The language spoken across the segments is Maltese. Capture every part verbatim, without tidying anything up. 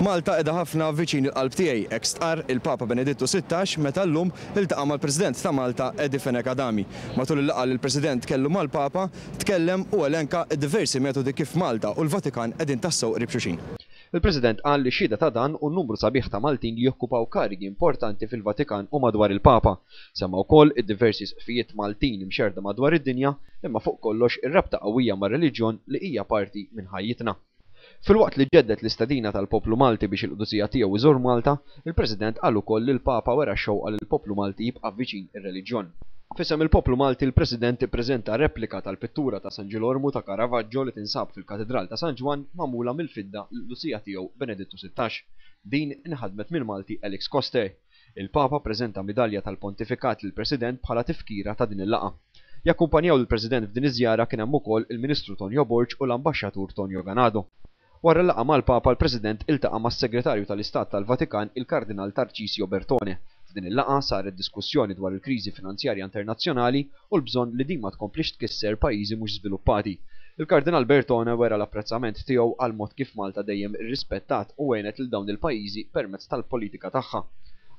Malta qiegħda ħafna viċin il-qalb tiegħi, hekk stqarr il-Papa Benedittu Sittax meta llum iltaqa' mal-President ta' Malta Eddie Fenech Adami. Matul il-laqgħa li l-President kellu mal-Papa, tkellem u elenka diversi metodi kif Malta u l-Vatikan qegħdin tassew qrib xulxin. Il-President qal li xhieda ta' dan hu n-numru sabiħ ta' Maltin li jokkupaw karigi importanti fil-Vatikan u madwar il-Papa. Semma wkoll id-diversi isqfijiet Maltin imxerrda madwar id-dinja, imma fuq kollox ir-rabta qawwija mar-reliġjon li hija parti minn ħajjitna. Filwaqt li ġedded l-istedina tal-poplu Malti biex il-qdusija tiegħu iżur Malta, il-President qal ukoll li l-Papa wera x-xewqa li l-poplu Malti jibqa' viċin ir-reliġjon. F'isem il-poplu Malti l-President ippreżenta replika tal-pittura ta' San Ġilormu ta' Caravaggio li tinsab fil-Katidral ta' San Ġwann magħmula mill-fidda lill-qdusija tiegħu Benedittu Sittax. Din inħadmet mill-Malti Alex Coster. Il-Papa ppreżenta midalja tal-Pontifikat lill-President bħala tifkira ta' din il-laqgħa. Jakkumpanjaw lill-President f'din iż-żjara kien hemm ukoll il-Ministru Tonio Borg u l-Ambaxxatur Tonio Ganado. Wara l-laqgħa mal-Papa l-President iltaqa' mas-Segretarju tal-Istat tal-Vatikan il-Kardinal Tarcisio Bertone. F'din il-laqgħa saret diskussjoni dwar il-kriżi finanzjarja internazzjonali u l-bżonn li din ma tkomplix tkisser pajjiżi mhux żviluppati. Il-Kardinal Bertone wera l-apprezzament tiegħu għal mod kif Malta dejjem irrispettat u għenet lil dawn il-pajjiżi permezz tal-politika tagħha.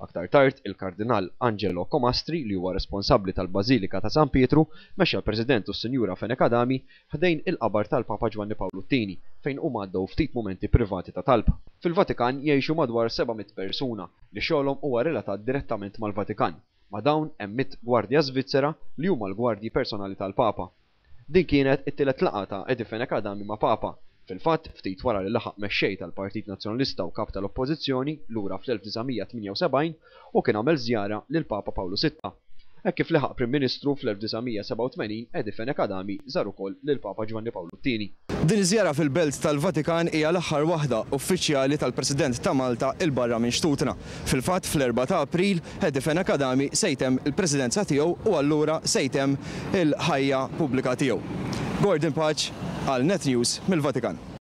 Aktar tard, il-Kardinal Angelo Comastri, li huwa responsabbli tal-Bażilika ta' San Pietru, mexxa l-President u s-Sinjura Fenech Adami ħdejn il-qabar tal-Papa Ġwanni Pawlu t-Tieni, fejn huma għaddew ftit mumenti privati ta' talb. Fil-Vatikan jgħixu madwar seba' mitt persuna li xogħolhom huwa relatat direttament mal-Vatikan. Ma' dawn hemm mitt gwardja Svizzera li huma l-gwardji personali tal-Papa. Din kienet it-tielet laqgħa ta' Eddie Fenech Adami ma' Papa. Fil-fatt, ftit wara li laħaq mexxej tal-Partit Nazzjonalista u kap tal-Oppożizzjoni lura fl-elf disa' mija tmienja u sebgħin u kien għamel żjara lil Papa Pawlu Sitta. Hekk kif laħaq Prim Ministru fl-elf disa' mija sebgħa u tmenin, Eddie Fenech Adami żar ukoll lil Papa Ġwanni Pawlu t-Tieni. Din iż-żjara fil-Belt tal-Vatikan hija l-aħħar waħda uffiċjali tal-President ta' Malta il barra minn xtutna. Fil-fatt, fl-erbgħa ta' April, Eddie Fenech Adami se jtemm il-presidenza tiegħu u allura se jtemm il-ħajja pubblika tiegħu. Gordon Pace għal Net News mill-Vatikan.